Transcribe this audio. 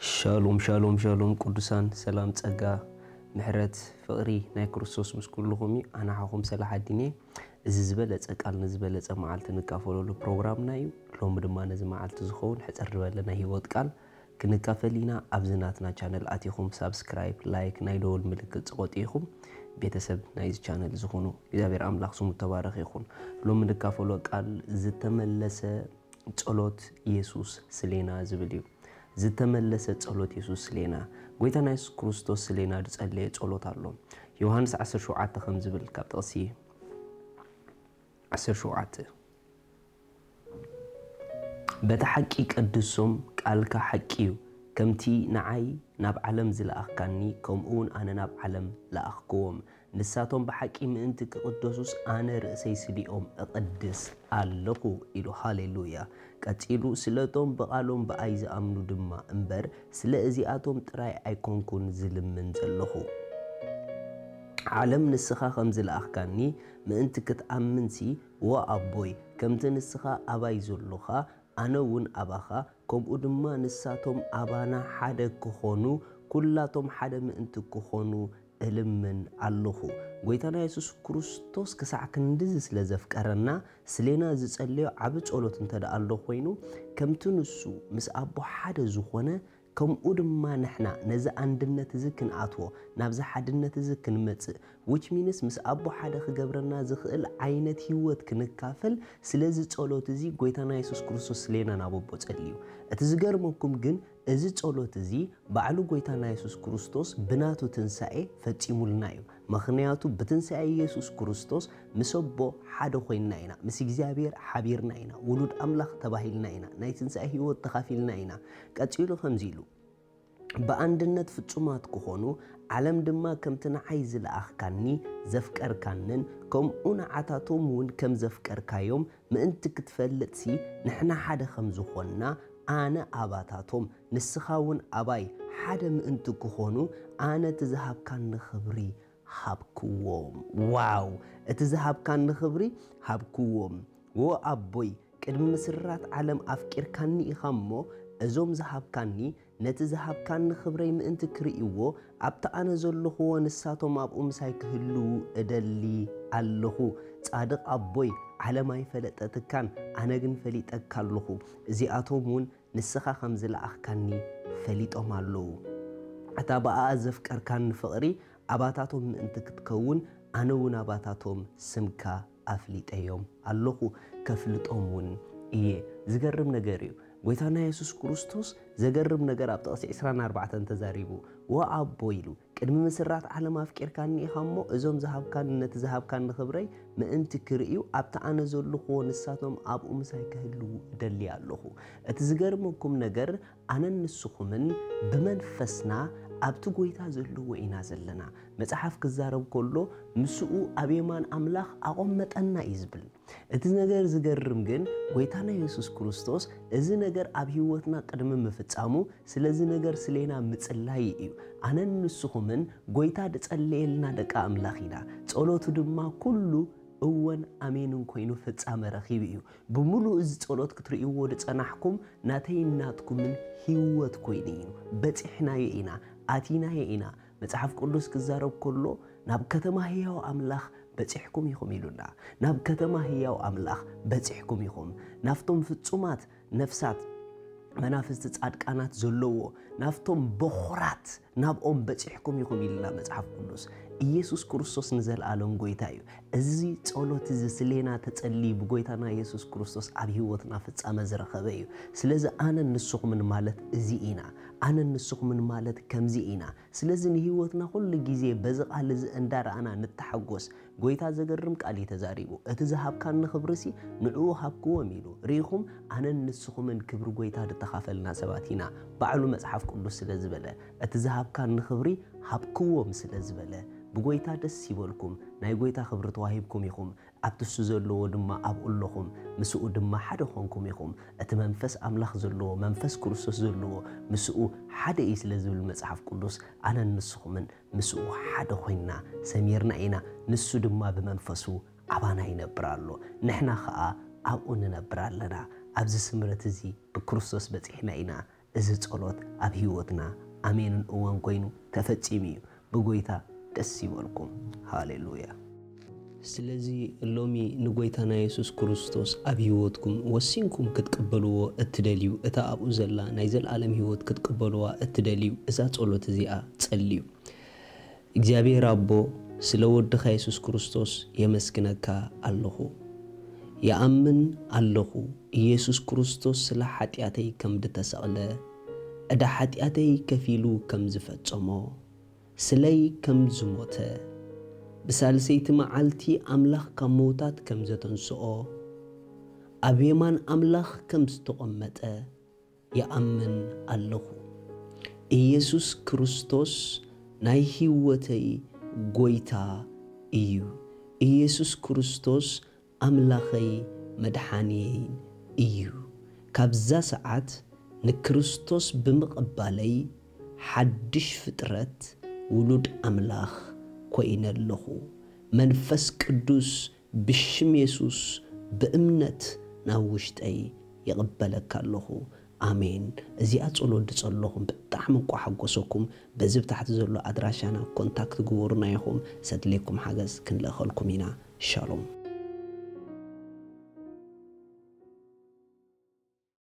ሻሎም ሻሎም ሻሎም ቅዱሳን፣ ሰላም፣ ጸጋ፣ ምሕረት፣ ፍቕሪ ናይ ክርስቶስ ምስ ኩልኹም እዩ። ኣነ ሓኹም ሰላሓዲን እየ። እዚ ዝበለጸ ቃል ንዝበለጸ መዓልቲ ንካፈለሉ ፕሮግራምና እዩ። ሎሚ ድማ ነዚ መዓልቲ ዝኸውን ሕጽር ዝበለ ናይ ህይወት ቃል ክንካፈል ኢና። ኣብዚ ናትና ቻነል ኣቲኹም ሳብስክራይብ፣ ላይክ፣ ናይ ደወል ምልክት ጽቆጡ ኢኹም። ቤተሰብ ናይዚ ቻነል ዝኾኑ እግዚኣብሔር ኣምላኽ ስሙ ተባረኽ ይኹን። ሎሚ ንካፈሎ ቃል ዝተመለሰ ጸሎት የሱስ ስሌና ዝብል እዩ። ዝተመለሰ ጸሎት የሱስ ስሌና። ጎይታና የሱስ ክርስቶስ ስሌና ዝጸለየ ጸሎት ኣሎ። ዮሃንስ ዓሰርተ ሸውዓተ ከም ዝብል ካብ ጥቕሲ ዓሰርተ ሸውዓተ፣ በቲ ሓቂ ቀድሶም፣ ቃልካ ሓቂ እዩ። ከምቲ ንዓይ ናብ ዓለም ዝለኣኽካኒ፣ ከምኡ እውን ኣነ ናብ ዓለም ለኣኽክዎም። ንሳቶም ብሓቂ ምእንቲ ክቕደሱስ ኣነ ርእሰይ ስሊኦም እቕድስ ኣለኹ ኢሉ። ሃሌሉያ። ቀጺሉ፣ ስለቶም ብቓሎም ብኣይ ዝኣምኑ ድማ እምበር፣ ስለ እዚኣቶም ጥራይ ኣይኮንኩን ዝልምን ዘለኹ። ዓለም ንስኻ ከም ዝለኣኽካኒ ምእንቲ ክትኣምንሲ፣ ወ ኣቦይ፣ ከምቲ ንስኻ ኣባይ ዘሎኻ፣ ኣነ እውን ኣባኻ፣ ከምኡ ድማ ንሳቶም ኣባና ሓደ ክኾኑ፣ ኩላቶም ሓደ ምእንቲ ክኾኑ እልምን ኣለኹ። ጎይታና የሱስ ክርስቶስ ክሳዕ ክንድዚ ስለ ዘፍቀረና፣ ስሌና ዝጸለዮ ዓቢ ጸሎት እንተ ደኣ ኣሎ ኮይኑ፣ ከምቲ ንሱ ምስ ኣቦ ሓደ ዝኾነ፣ ከምኡ ድማ ንሕና ነዚ ኣንድነት እዚ ክንኣትዎ፣ ናብዚ ሓድነት እዚ ክንመጽእ፣ which means ምስ ኣቦ ሓደ ክገብረና ዝኽእል ዓይነት ህይወት ክንካፈል፣ ስለዚ ጸሎት እዚ ጎይታና የሱስ ክርስቶስ ስሌና ናብ ኣቦ ጸልዩ። እቲ ዝገርመኩም ግን፣ እዚ ጸሎት እዚ ባዕሉ ጎይታና የሱስ ክርስቶስ ብናቱ ትንሳኤ ፈጺሙልና እዩ። ምኽንያቱ ብትንሳኤ የሱስ ክርስቶስ ምስ ኣቦ ሓደ ኮይንና ኢና፣ ምስ እግዚኣብሔር ሓቢርና ኢና፣ ውሉድ ኣምላኽ ተባሂልና ኢና፣ ናይ ትንሳኤ ህይወት ተኻፊልና ኢና። ቀጺሉ ከምዚ ኢሉ፣ ብኣንድነት ፍጹማት ክኾኑ፣ ዓለም ድማ ከምቲ ንዓይ ዝለኣኽካኒ ዘፍቀርካንን፣ ከምኡ ንዓታቶም እውን ከም ዘፍቀርካዮም ምእንቲ ክትፈልጥሲ፣ ንሕና ሓደ ከም ዝኾንና፣ ኣነ ኣባታቶም፣ ንስኻ እውን ኣባይ ሓደ ምእንቲ ክኾኑ፣ ኣነ እቲ ዝሃብካኒ ክብሪ ሃብክዎም። ዋው! እቲ ዝሃብካኒ ክብሪ ሃብክዎም። ወ ኣቦይ፣ ቅድሚ ምስራት ዓለም ኣፍቂርካኒ ኢኻ እሞ፣ እዞም ዝሃብካኒ፣ ነቲ ዝሃብካኒ ክብረይ ምእንቲ ክርእይዎ፣ ኣብቲ ኣነ ዘለኹዎ ንሳቶም ኣብኡ ምሳይ ክህልዉ እደሊ ኣለኹ። ጻድቕ ኣቦይ፣ ዓለም ኣይፈለጠትካን፣ ኣነ ግን ፈሊጠካ ኣለኹ። እዚኣቶም እውን ንስኻ ከም ዝለኣኽካኒ ፈሊጦም ኣለዉ። እታ ብኣኣ ዘፍቀርካኒ ፍቕሪ ኣባታቶም ምእንቲ ክትከውን፣ ኣነ እውን ኣባታቶም ስምካ ኣፍሊጠዮም ኣለኹ፣ ከፍልጦም እውን እየ። ዝገርም ነገር እዩ። ጎይታና የሱስ ክርስቶስ ዘገርም ነገር ኣብ ጥቕሲ ዕስራን ኣርባዕተን ተዛሪቡ። ወ ኣቦ ኢሉ፣ ቅድሚ ምስራት ዓለም ኣፍቂርካኒ ኢኻ እሞ፣ እዞም ዝሃብካኒ፣ ነቲ ዝሃብካኒ ክብረይ ምእንቲ ክርእዩ፣ ኣብቲ ኣነ ዘለኹዎ ንሳቶም ኣብኡ ምሳይ ክህልዉ እደሊ ኣለኹ። እቲ ዝገርመኩም ነገር፣ ኣነን ንስኹምን ብመንፈስና ኣብቲ ጎይታ ዘለዎ ኢና ዘለና። መጽሓፍ ክዛረብ ከሎ፣ ምስኡ ኣብ የማን ኣምላኽ ኣቖመጠና እዩ ዝብል። እቲ ነገር ዝገርም ግን፣ ጎይታና የሱስ ክርስቶስ እዚ ነገር ኣብ ህይወትና ቅድሚ ምፍጻሙ፣ ስለዚ ነገር ስሌና ምጽላይ እዩ። ኣነን ንስኹምን ጎይታ ዝጸለየልና ደቂ ኣምላኽ ኢና። ጸሎቱ ድማ ኩሉ እወን ኣሜንን ኮይኑ ፍጻመ ረኺቡ እዩ። ብምሉእ እዚ ጸሎት ክትርእይዎ ዝጸናሕኩም ናተይን ናትኩምን ህይወት ኮይኑ እዩ። በጺሕናዮ ኢና፣ ኣቲናዮ ኢና። መጽሓፍ ቅዱስ ክዛረብ ከሎ፣ ናብ ከተማ ህያው ኣምላኽ በጺሕኩም ኢኹም ኢሉና። ናብ ከተማ ህያው ኣምላኽ በጺሕኩም ኢኹም። ናብቶም ፍጹማት ነፍሳት መናፍስቲ ጻድቃናት ዘለዎ፣ ናብቶም በኹራት ናብኦም በጺሕኩም ኢኹም ኢልና መጽሓፍ ቅዱስ። ኢየሱስ ክርስቶስ ንዘለኣለም ጎይታ እዩ። እዚ ጸሎት እዚ ስሌና ተጸልዩ ብጎይታና ኢየሱስ ክርስቶስ ኣብ ህይወትና ፍጻመ ዝረኸበ እዩ። ስለዚ ኣነን ንስኹምን ማለት እዚ ኢና። ኣነን ንስኹምን ማለት ከምዚ ኢና። ስለዚ ንህይወትና ኩሉ ግዜ በዚ ቃል እዚ እንዳረኣና ንተሓጎስ። ጎይታ ዘገርም ቃል እዩ ተዛሪቡ። እቲ ዝሃብካኒ ክብሪሲ ንዕኡ ሃብክዎም ኢሉ። ርኢኹም፣ ኣነን ንስኹምን ክብሪ ጎይታ ዝተኻፈልና ሰባት ኢና። ባዕሉ መጽሓፍ ቅዱስ ስለ ዝበለ፣ እቲ ዝሃብካኒ ክብሪ ሃብክዎም ስለ ዝበለ፣ ብጎይታ ደስ ይበልኩም። ናይ ጎይታ ክብሪ ተዋሂብኩም ኢኹም። ኣብቲ እሱ ዘለዎ ድማ ኣብኡ ኣለኹም፣ ምስኡ ድማ ሓደ ኾንኩም ኢኹም። እቲ መንፈስ ኣምላኽ ዘለዎ፣ መንፈስ ክርስቶስ ዘለዎ፣ ምስኡ ሓደ እዩ ስለ ዝብል መጽሓፍ ቅዱስ፣ ኣነን ንስኹምን ምስኡ ሓደ ኮይንና ሰሚርና ኢና። ንሱ ድማ ብመንፈሱ ኣባና ይነብር ኣሎ፣ ንሕና ኸኣ ኣብኡ ንነብር ኣለና። ኣብዚ ስምረት እዚ ብክርስቶስ በጺሕና ኢና። እዚ ጸሎት ኣብ ህይወትና ኣሜንን እወን ኮይኑ ተፈጺሙ እዩ። ብጎይታ ደስ ይበልኩም። ሃሌሉያ። ስለዚ ሎሚ ንጎይታና የሱስ ክርስቶስ ኣብ ህይወትኩም ወሲንኩም ክትቅበልዎ እትደልዩ፣ እታ ኣብኡ ዘላ ናይ ዘለኣለም ህይወት ክትቅበልዋ እትደልዩ፣ እዛ ጸሎት እዚኣ ጸልዩ። እግዚኣብሔር ኣቦ፣ ስለ ወድኻ የሱስ ክርስቶስ የመስግነካ ኣለኹ። ይኣምን ኣለኹ፣ ኢየሱስ ክርስቶስ ስለ ሓጢኣተይ ከም ድተሰቕለ፣ ዕዳ ሓጢኣተይ ከፊሉ ከም ዝፈጸሞ፣ ስለይ ከም ዝሞተ፣ ብሳልሰይቲ መዓልቲ ኣምላኽ ካብ ምዉታት ከም ዘተንስኦ፣ ኣብ የማን ኣምላኽ ከም ዝተቐመጠ ይኣምን ኣለኹ። ኢየሱስ ክርስቶስ ናይ ህይወተይ ጎይታ እዩ። ኢየሱስ ክርስቶስ ኣምላኸይ መድሓንየይን እዩ። ካብዛ ሰዓት ንክርስቶስ ብምቕባለይ ሓድሽ ፍጥረት ውሉድ ኣምላኽ ኮይነ ኣለኹ። መንፈስ ቅዱስ ብሽም የሱስ ብእምነት ናብ ውሽጠይ ይቕበለካ ኣለኹ። ኣሜን። እዚኣ ጸሎት ድጸለኹም ብጣዕሚ እኳ ሓጎሰኩም። በዚ ብታሕቲ ዘሎ ኣድራሻና ኮንታክት ግበሩና ኢኹም። ዘድልየኩም ሓገዝ ክንልእኸልኩም ኢና። ሻሎም።